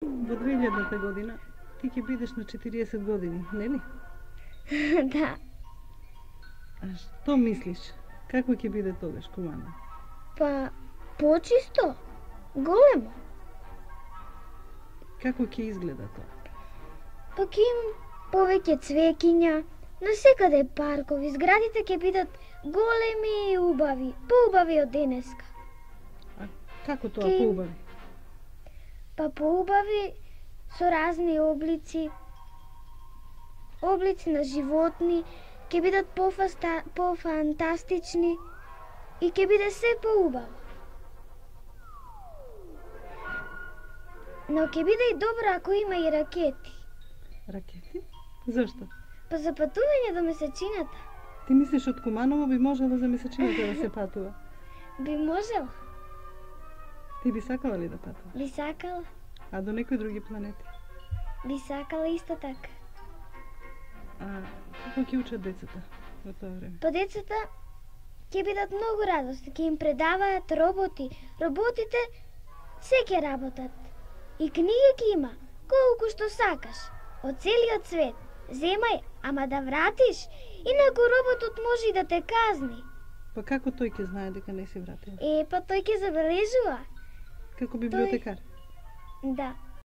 Во 2000-та година ти ќе бидеш на 40 години, нели? Да. А што мислиш? Како ќе биде тогаш Куманово? Па, почисто, големо. Како ќе изгледа тоа? Па ќе има повеќе цвеќиња, насекаде паркови, зградите ќе бидат големи и убави, поубави од денеска. А како тоа поубави? Па поубави со разни облици на животни, ќе бидат пофантастични и ќе биде се поубаво. Но ќе биде и добро ако има и ракети. Ракети? Зошто? Па за патување до месечината. Ти мислиш од Куманово би можело за месечината да се патува? Би можел. Ти би сакала ли да патуваш? Би сакала. А до некои други планети? Би сакала исто така. А како ќе учат децата во тоа време? Па децата ќе бидат многу радосни, ќе им предаваат роботи. Роботите се ќе работат. И книги ќе има, колку што сакаш, од целиот свет. Земај, ама да вратиш, инаку роботот може и да те казни. Па како тој ќе знае дека не си вратил? Па тој ќе забележува. Како библиотекар? Да.